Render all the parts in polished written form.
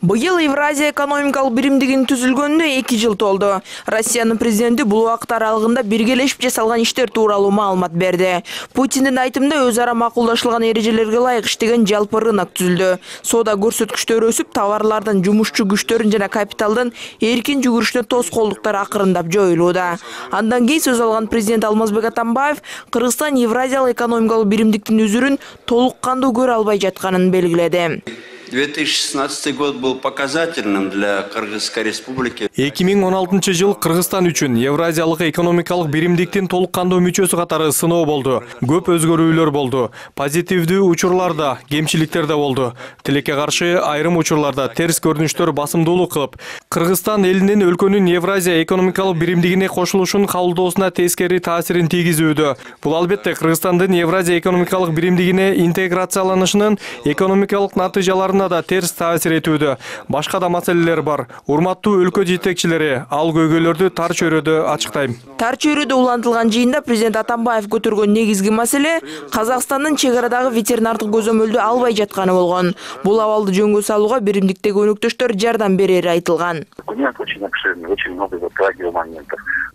Быйыл Евразия экономикалык биримдигинин түзүлгөнүнө 2 жыл толду. Россиянын президенти бул убакыт аралыгында биргелешип жасалган иштер тууралуу маалымат берди. Путиндин айтымында өз ара макулдашылган эрежелерге ылайык иштеген жалпы рынок түзүлдү. Соода көрсөткүчтөрү өсүп, товарлардын, жумушчу күчтөрүн жана капиталдын эркин жүгүрүшүнө тоскоолдуктар акырындап жоюлууда. Андан кийин сөз алган президент Алмазбек Атамбаев Кыргызстан Евразиялык экономикалык биримдиктин үзүрүн толук кандуу көрө албай жатканын белгиледи. 2016 год был показательным для Кыргызской республики. 2016 жыл Кыргызстан үчүн Евразиялык экономикалык биримдиктин толук кандуу мүчөсү катары сыноо болду. Көп өзгөрүүлөр болду. Позитивдүү учурларда, кемчиликтер да болду. Тилекке каршы айрым учурларда терс көрүнүштөр басымдуулук кылып, Кыргызстан элинин өлкөнүн Евразия экономикалык биримдигине кошулушун кабылдоосуна тескери таасирин тийгизүүдө. Бул албетте Кыргызстандын Евразия экономикалык биримдигине интеграцияланышынын экономикалык натыйжаларын да терс таасир этүүдө. Башка да маселелер бар. Урматтуу өлкө жетекчилери, ал көйгөйлөрдү тар чөйрөдө ачыктайм. Тар чөйрөдө улантылган жыйында президент Атамбаев көтөргөн негизги маселе Казакстандын чек арадагы ветеринардык көзөмөлдү албай жатканы болгон. Бул абалды жөнгө салууга биримдиктеги өнөктөштөр жардам берери айтылган.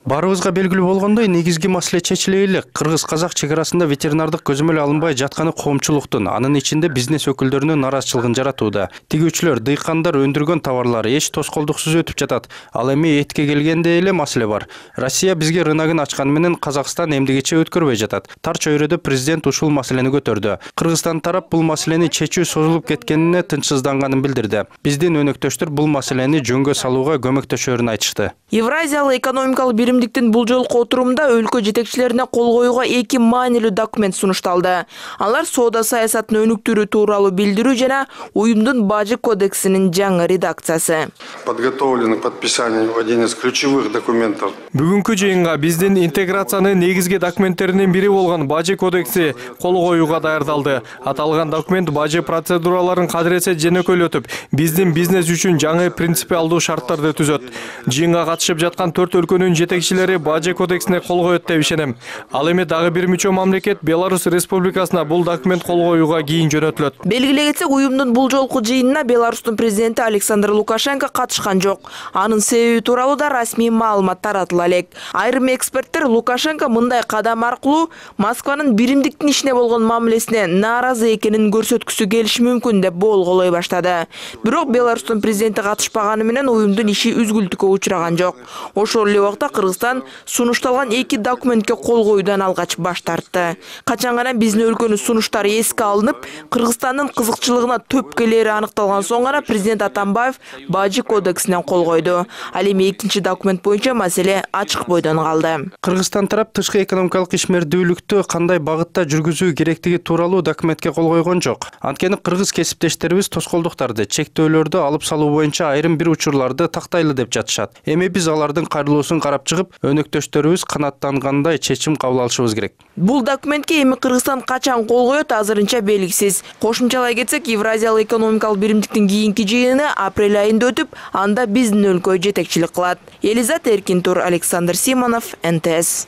Барыбызга белгилүү болгондой, негизги маселе чечиле элек. Кыргыз-казак чек арасында ветеринардык көзөмөл алынбай жатканы коомчулуктун, анын ичинде бизнес өкүлдөрүнүн нараазычылыгын жаратууда. Тигүүчүлөр, дыйкандар өндүргөн товарлар эч тоскоолдуксуз өтүп жатат. Ал эми этке келгенде эле маселе бар. Россия бизге рыногун ачканы менен Казакстан эмдигече өткөрбөй жатат. Тар чөйрөдө президент ушул маселени көтөрдү. Кыргызстан тарап бул маселени чечүү созулуп кеткенине тынчсызданганын билдирди. Биздин өнөктөштөр бул маселени жөнгө салууга көмөктөшөрүн айтышты. Евразиялык экономикалык биримдиктин бул жолку отурумда өлкө жетекчилерине кол коюуга 2 маанилүү документ сунушталды. Алар соода саясатын өнүктүрүү тууралуу билдирүү жана уюмдун бажы кодексинин жаңы редакциясы. Подготовлен к подписанию один из ключевых документов. Бүгүнкү жыйынга биздин интеграциянын негизги документтеринин бири болгон бажы кодекси кол коюуга даярдалды. Аталган документ бажы процедураларын кадыресе жөнөкөйлөтүп, биздин бизнес үчүн жаңы принципиалдуу шарттарды түзөт. Жыйынга катышып жаткан 4 өлкөнүн жетекчилери бажы кодексине кол коет деп ишенем. Ал эми дагы бир мүчө мамлекет Беларусь Республикасына бул документ кол коюуга кийин жөнөтүлөт. Белгилей кетсек, уюмдун бул жолку жыйынына Беларустун президенти Александр Лукашенко катышкан жок. Анын себеби тууралуу да расмий маалымат таратыла элек. Айрым эксперттер Лукашенко мындай кадам аркылуу Москванын биримдиктин ишине болгон мамилесине нааразы экенин көрсөткүсү келиши мүмкүн деп болголой баштады. Бирок Беларустун президенти катышпаганы менен уюмдун иши үзгүлтүккө учураган жок. Ошол эле убакта Кыргызстан сунушталган 2 документке кол коюудан алгач баш тартты. Качан гана биздин өлкөнүн сунуштары эске алынып, Кыргызстандын кызыкчылыгына төп келери аныкталган соң гана президент Атамбаев бажы кодексине кол койду. Ал эми 2 документ боюнча маселе ачык бойдон калды. Кыргызстан тарап тышкы экономикалык ишмердүүлүктү кандай багытта жүргүзүү керектиги тууралуу документке кол койгон жок. Анткени кыргыз кесиптештерибиз тоскоолдуктарды, чектөөлөрдү алып салуу боюнча айрым бир учурларды тактайлы деп жатышат. Эми биз алардын кайрылуусун карап чыгып, өнөктөштөрүбүз канааттангандай чечим кабыл алышыбыз керек. Бул документке эми Кыргызстан качан кол коет азырынча белгисиз. Кошумчалай кетсек, Евразиялык экономикалык биримдиктин кийинки жыйыны апрель айында өтүп, анда биздин өлкө жетекчилик кылат. Элизат Эркинтур, Александр Симонов, НТС.